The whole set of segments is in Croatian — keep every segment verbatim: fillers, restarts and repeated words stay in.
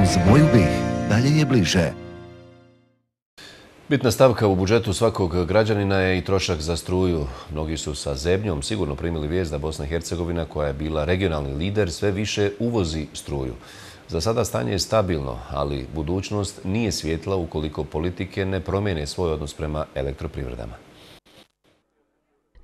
Uz moju bih, dalje je bliže. Bitna stavka u budžetu svakog građanina je i trošak za struju. Mnogi su sa zebnjom sigurno primili vijest da Bosna i Hercegovina, koja je bila regionalni lider, sve više uvozi struju. Za sada stanje je stabilno, ali budućnost nije svijetla ukoliko politike ne promijene svoj odnos prema elektroprivredama.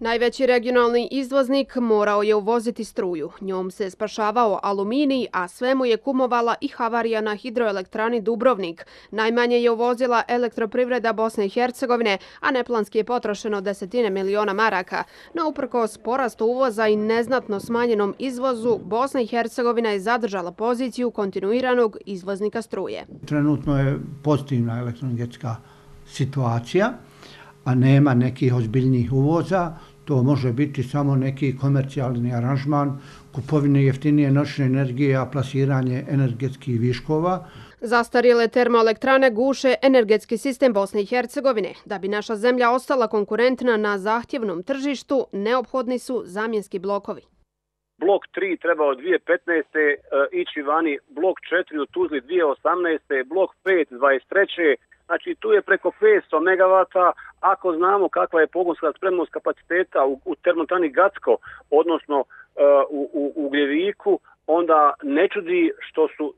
Najveći regionalni izvoznik morao je uvoziti struju. Njom se spašavao aluminij, a sve mu je kumovala i havarija na hidroelektrani Dubrovnik. Najmanje je uvozila elektroprivreda Bosne i Hercegovine, a neplanski je potrošeno desetine miliona maraka. No uprkos porastu uvoza i neznatno smanjenom izvozu, Bosna i Hercegovina je zadržala poziciju kontinuiranog izvoznika struje. Trenutno je pozitivna elektroenergetska situacija, a nema nekih ozbiljnijih uvoza. To može biti samo neki komercijalni aranžman, kupovine jeftinije noćne energije, a plasiranje energetskih viškova. Zastarjele termoelektrane guše energetski sistem Bosne i Hercegovine. Da bi naša zemlja ostala konkurentna na zahtjevnom tržištu, neophodni su zamjenski blokovi. Blok tri treba od dvije tisuće petnaeste. ići vani, blok četiri u Tuzli dvije tisuće osamnaeste. blok pet dvadeset treće. Znači tu je preko petsto megavata, ako znamo kakva je pogonska spremnost kapaciteta u, u termoelektrani Gacko, odnosno uh, u, u Ugljeviku, onda ne čudi što su uh,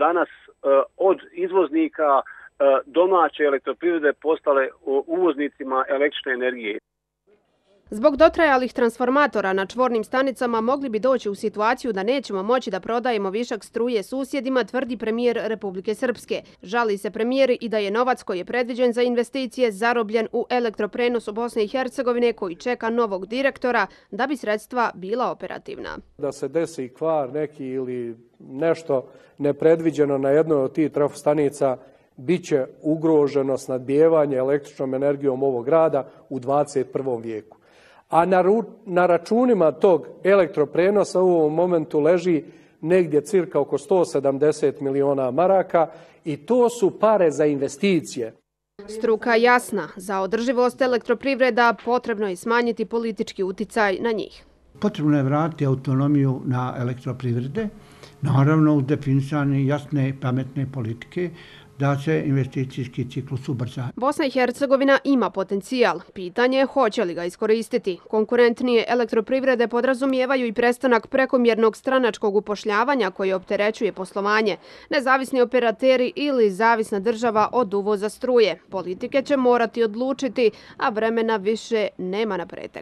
danas uh, od izvoznika uh, domaće elektroprivrede postale uh, uvoznicima električne energije. Zbog dotrajalih transformatora na čvornim stanicama mogli bi doći u situaciju da nećemo moći da prodajemo višak struje susjedima, tvrdi premijer Republike Srpske. Žali se premijer i da je novac koji je predviđen za investicije zarobljen u elektroprenosu Bosne i Hercegovine, koji čeka novog direktora da bi sredstva bila operativna. Da se desi kvar neki ili nešto nepredviđeno na jednoj od tih trafostanica, bit će ugroženo snabdijevanje električnom energijom ovog grada u dvadeset prvom vijeku. A na, ru, na računima tog elektroprenosa u ovom momentu leži negdje cirka oko sto sedamdeset miliona maraka i to su pare za investicije. Struka jasna, za održivost elektroprivreda potrebno je smanjiti politički uticaj na njih. Potrebno je vratiti autonomiju na elektroprivrede, naravno uz definisane jasne i pametne politike, da se investicijski ciklus ubrza. Bosna i Hercegovina ima potencijal. Pitanje je hoće li ga iskoristiti. Konkurentnije elektroprivrede podrazumijevaju i prestanak prekomjernog stranačkog upošljavanja koji opterećuje poslovanje. Nezavisni operateri ili zavisna država od uvoza struje. Politike će morati odlučiti, a vremena više nema na pretek.